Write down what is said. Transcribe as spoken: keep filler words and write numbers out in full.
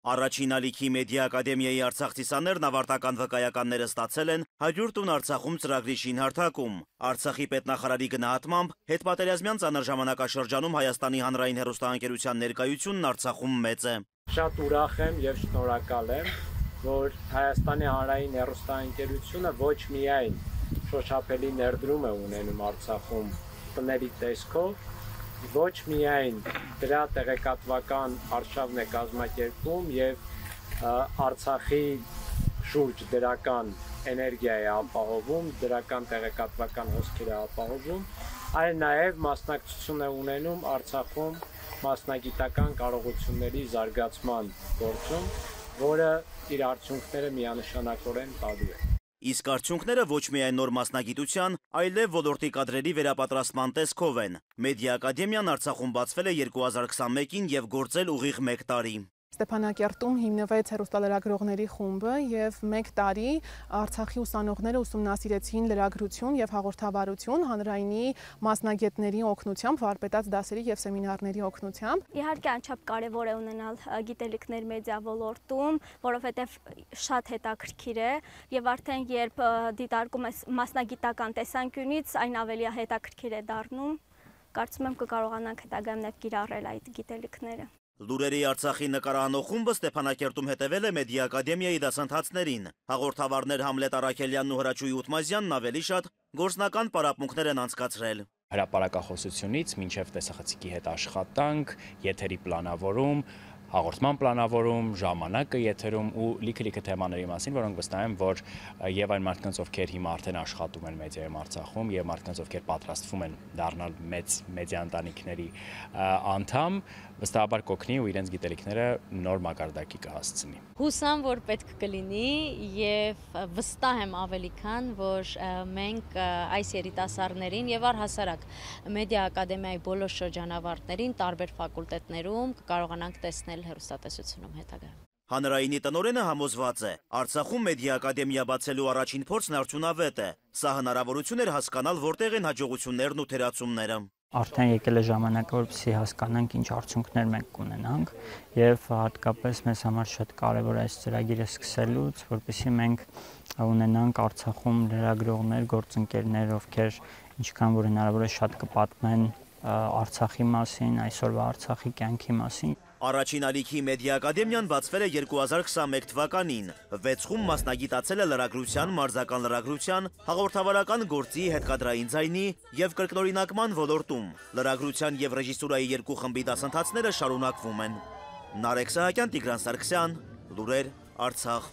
Առաջին ալիքի մեդիա ակադեմիայի արցախցիստներն ավարտական վկայականները ստացել են հարյուր տուն Արցախում ծրագրի շինհարթակում։ Արցախի պետնախարարի գնահատմամբ հետպատերազմյան ծանր ժամանակաշրջանում Հայաստանի հանրային հեռուստաընկերության ներկայությունն Արցախում մեծ է։ Շատ ուրախ եմ եւ շնորհակալ եմ, որ Հայաստանի հանրային հեռուստաընկերությունը ոչ միայն շոշափելի ներդրում է ունենում Արցախում տների տեսքով, ոչ միայն դրա տեղեկատվական արշավն է կազմակերպում եւ Արցախի շուրջ դրական էներգիա է ապահովում, դրական տեղեկատվական հոսքեր է ապահովում, այլ նաեւ մասնակցություն է ունենում Արցախում մասնագիտական կարողությունների զարգացման գործում, որը իր արդյունքները միանշանակորեն տալու է։ Իսկ արդյունքները ոչ միայն նոր մասնագիտության, այլև ոլորտի կադրերի վերապատրաստման տեսքով են։ Մեդիա ակադեմիան Արցախում բացվել է երկու հազար քսանմեկին եւ գործել ուղիղ մեկ տարի։ Ստեփանակերտում հիմնվեց հեռուստալրագրողների խումբը եւ մեկ տարի Արցախի ուսանողները ուսումնասիրեցին լրագրություն եւ հաղորդավարություն հանրայինի մասնագետների օգնությամբ, վարպետաց դասերի եւ սեմինարների օգնությամբ։ Իհարկե անչափ կարեւոր է ունենալ գիտելիքներ մեդիա ոլորտում, որովհետեւ շատ հետաքրքիր է եւ արդեն երբ դիտարկում ես մասնագիտական տեսանկյունից, այն ավելի հետաքրքիր է դառնում։ Կարծում եմ կկարողանանք հետագայում նաեւ կիրառել այդ գիտելիքները։ Լուրերի Արցախի նկարահանող խումբը Ստեփանակերտում հետևել է մեդիա ակադեմիայի դասընթացներին։ Հաղորդավարներ Համլետ Արաքելյանն ու Հրաչուհի Ութմազյանն ավելի շատ գործնական պարապմունքներ են անցկացրել։ Հրապարակախոսությունից մինչև տեսախցիկի հետ աշխատանք, եթերի պլանավորում, հաղորդման պլանավորում, ժամանակը եթերում ու լիքը-լիքը թեմաների մասին, որոնք վստահ եմ, որ եւ այն մարդկանց, ովքեր հիմա արդեն աշխատում են մեդիայում Արցախում եւ մարդկանց, ովքեր պատրաստվում են դառնալ մեծ մեդիա ընտանիքների անդամ, վստահաբար կօգնի ու իրենց գիտելիքները նոր մակարդակի կհասցնի։ Հուսամ, որ պետք կլինի եւ վստահ եմ ավելի քան, որ մենք այս երիտասարդներին եւ առհասարակ մեդիա ակադեմիայի բոլոր շրջանավարտներին տարբեր ֆակուլտետներում կկարողանանք տեսնել հեռուստատեսությունում հետագայում։ Հանրայինի տնօրենը համոզված է, Արցախում մեդիա ակադեմիա բացելու առաջին փորձն արդյունավետ է։ Սա հնարավորություն էր հասկանալ, որտեղ են հաջողություններն ու թերացումները։ Արդեն եկել է ժամանակը, որպեսզի հասկանանք ինչ արդյունքներ մենք կունենանք եւ հատկապես մեզ համար շատ կարեւոր է այս ծրագիրը սկսելուց, որպեսզի մենք ունենանք Արցախում լրագրողներ, գործընկերներ, ովքեր ինչքան որ հնարավոր է շատ կպատմեն Արցախի մասին, այսօրվա Արցախի կյանքի մասին։ Առաջին ալիքի մեդիա ակադեմիան բացվել է երկու հազար քսանմեկ թվականին։ Վեց խումբ մասնագիտացել է լրագրության, մարզական լրագրության, հաղորդավարական գործի, հետկադրային ձայնի եւ կրկնօրինակման ոլորտում։ Լրագրության եւ ռեժիսուրայի երկու խմբի դասընթացները շարունակվում են։ Նարեկ Սահակյան, Տիգրան Սարգսյան, Լուրեր, Արցախ։